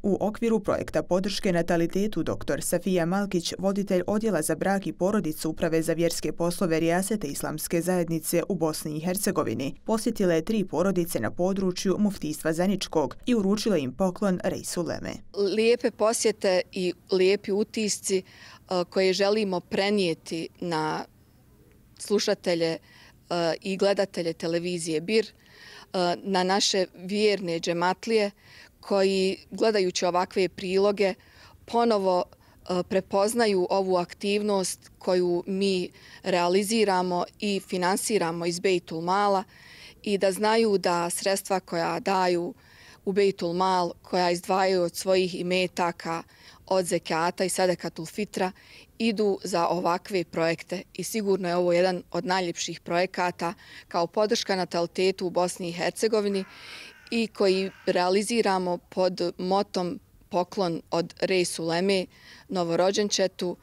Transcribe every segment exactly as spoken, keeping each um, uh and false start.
U okviru projekta podrške natalitetu dr Safija Malkić, voditelj Odjela za brak i porodicu Uprave za vjerske poslove Rijasete Islamske zajednice u Bosni i Hercegovini, posjetila je tri porodice na području Muftijstva Zeničkog i uručila im poklon Reisu Leme. Lijepe posjete i lijepi utisci koje želimo prenijeti na slušatelje i gledatelje televizije Bir, na naše vjerne džematlije koji, gledajući ovakve priloge, ponovo prepoznaju ovu aktivnost koju mi realiziramo i finansiramo iz Bejtul Mala i da znaju da sredstva koja daju u Bejtul Mal, koja izdvajaju od svojih imetaka, od zekata i sadekatul fitra, idu za ovakve projekte i sigurno je ovo jedan od najljepših projekata kao podrška natalitetu u Bosni i Hercegovini i koji realiziramo pod motom poklon od Reisu Leme, novorođenčetu,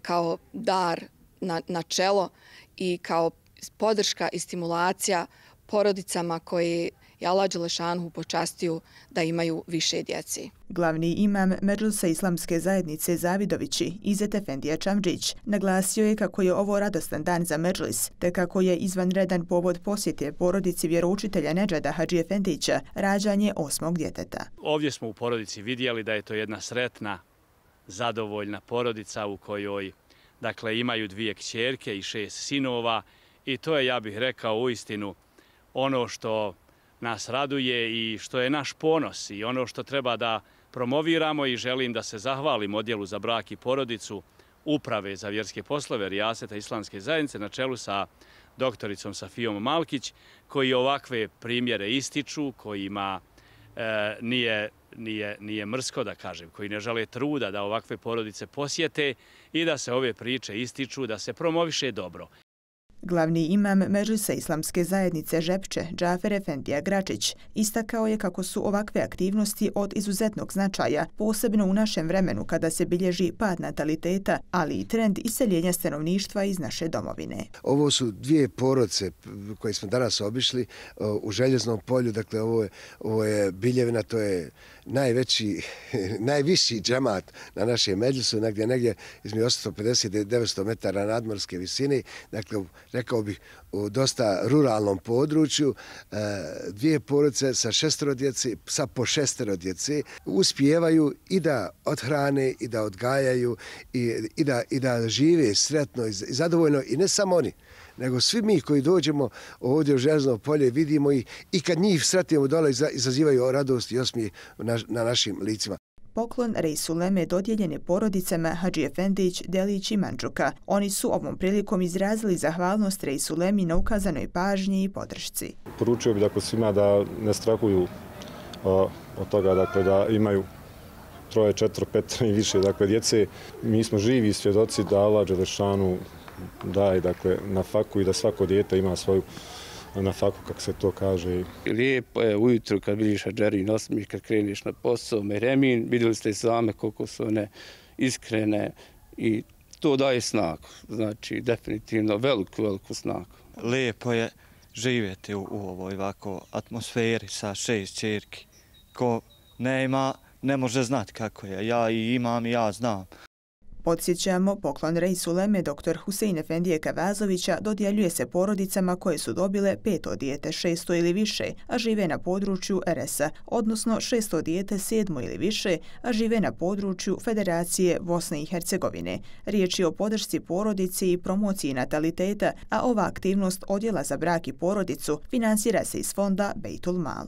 kao dar na, na čelo i kao podrška i stimulacija porodicama koje je Allah dželešanuhu počastio da imaju više djece. Glavni imam Medžlisa Islamske zajednice Zavidovići, Izet Efendija Čamdžić, naglasio je kako je ovo radostan dan za Medžlis, te kako je izvanredan povod posjete porodici vjeroučitelja Nedžada Hadži Efendića rađanje osmog djeteta. Ovdje smo u porodici vidjeli da je to jedna sretna, zadovoljna porodica u kojoj dakle, imaju dvije kćerke i šest sinova i to je, ja bih rekao, uistinu ono što nas raduje i što je naš ponos i ono što treba da promoviramo i želim da se zahvalim Odjelu za brak i porodicu Uprave za vjerske poslove Rijaseta Islamske zajednice na čelu sa doktoricom Safijom Malkić, koji ovakve primjere ističu, kojima e, nije, nije, nije mrsko da kažem, koji ne žele truda da ovakve porodice posjete i da se ove priče ističu, da se promoviše dobro. Glavni imam Medžlisa Islamske zajednice Žepče, Džafer Efendija Gračić, istakao je kako su ovakve aktivnosti od izuzetnog značaja, posebno u našem vremenu kada se bilježi pad nataliteta, ali i trend iseljenja stanovništva iz naše domovine. Ovo su dvije porodice koje smo danas obišli u Željeznom polju, dakle ovo je, ovo je Biljevina, to je najveći, najviši džemat na našem Medžlisu, negdje, negdje između osamsto pedeset do devetsto metara nadmorske visine, dakle rekao bih, u dosta ruralnom području, dvije porodice sa šestero djece, sa po šestero djece, uspijevaju i da odhrane, i da odgajaju, i, i, da, i da žive sretno i zadovoljno, i ne samo oni, nego svi mi koji dođemo ovdje u Željezno polje, vidimo ih i kad njih sretimo dole, izazivaju radost i osmijeh na, na našim licima. Poklon Reisu Leme dodijeljen je porodicama Hadži Efendić, Delić i Mandžuka. Oni su ovom prilikom izrazili zahvalnost Reisu Lemi na ukazanoj pažnji i podršci. Poručio bih dakle, svima da ne strahuju o, od toga dakle, da imaju troje, četvro, pet i više dakle, djece. Mi smo živi svjedoci da Allah dželešanu daje dakle, na faku i da svako dijete ima svoju na faku, kako se to kaže. Lijepo je ujutru kad vidiš Hadžerin osmijeh, kad kreneš na posao, Meremin, vidjeli ste i same koliko su one iskrene i to daje snagu. Znači, definitivno veliku, veliku snagu. Lijepo je živjeti u, u ovoj ovako atmosferi sa šest ćerki. Ko ne ima, ne može znati kako je. Ja i imam i ja znam. Podsjećamo, poklon Reisu Leme dr Husein Efendije Kavazovića dodjeljuje se porodicama koje su dobile peto dijete, šesto ili više, a žive na području er es a, odnosno šesto dijete, sedmo ili više, a žive na području Federacije Bosne i Hercegovine. Riječ je o podršci porodici i promociji nataliteta, a ova aktivnost Odjela za brak i porodicu finansira se iz fonda Bejtul Mal.